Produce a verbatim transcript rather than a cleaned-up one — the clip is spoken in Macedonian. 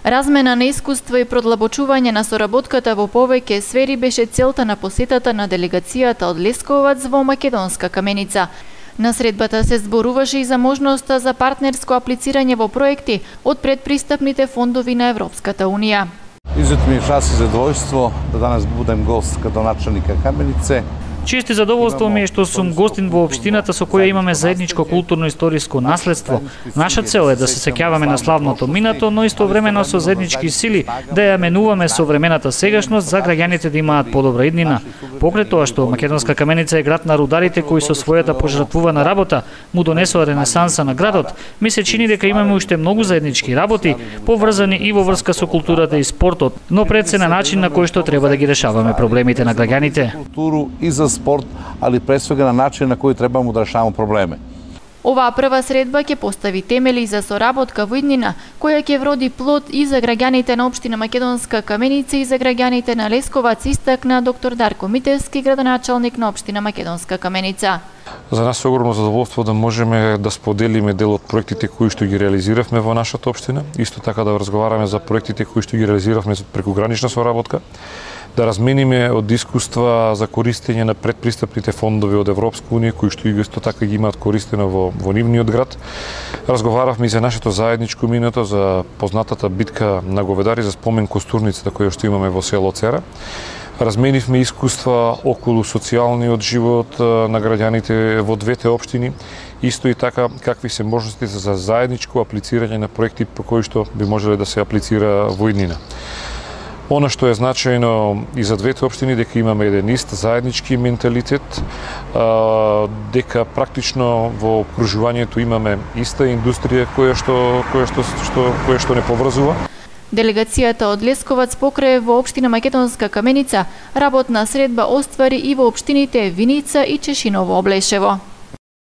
Размена на искуства и продлабочување на соработката во повеќе сфери беше целта на посетата на делегацијата од Лесковац во Македонска Каменица. На средбата се зборуваше и за можноста за партнерско аплицирање во проекти од предпристапните фондови на Европската Унија. Изуто ми е час и задоволство да данас будем гост градоначелника Каменице. Чест и задоволство ми е што сум гостин во општината со која имаме заедничко културно-историско наследство. Наша цел е да се сеќаваме на славното минато, но истовремено со заеднички сили да ја менуваме современата сегашност за граѓаните да имаат подобра иднина. Покрај тоа што Македонска Каменица е град на рударите кои со својата пожртвувана работа му донесоа ренесанса на градот, ми се чини дека имаме уште многу заеднички работи, поврзани и во врска со културата и спортот, но пред се на начин на кој што треба да ги решаваме проблемите на граѓаните. Културу и за спорт, али пред свега на начин на кој требамо да решаваме проблеми. Оваа прва средба ќе постави темели за соработка во иднина, која ќе вроди плод и за граѓаните на општина Македонска Каменица и за граѓаните на Лесковац, истакна доктор Дарко Митевски, градоначалник на општина Македонска Каменица. За нас е огромно задоволство да можеме да споделиме дел од проектите кои што ги реализиравме во нашата општина, исто така да разговараме за проектите кои што ги реализиравме за прекугранична соработка, да размениме од искуства за користење на предпристапните фондови од Европска Унија, кои што исто така ги имаат користено во, во нивниот град. Разговаравме и за нашето заедничко минато, за познатата битка на говедари, за спомен костурницата која што имаме во село Цера. Разменивме искуства околу социјалниот живот на граѓаните во двете општини, исто и така какви се можностите за заедничко аплицирање на проекти по кои што би можеле да се аплицира во иднина. Она што е значајно и за двете општини дека имаме еден ист заеднички менталитет, дека практично во окружувањето имаме иста индустрија која што која што што која што не поврзува. Делегацијата од Лесковац покрај во општина Македонска Каменица работна средба оствари и во општините Виница и Чешиново Облешево.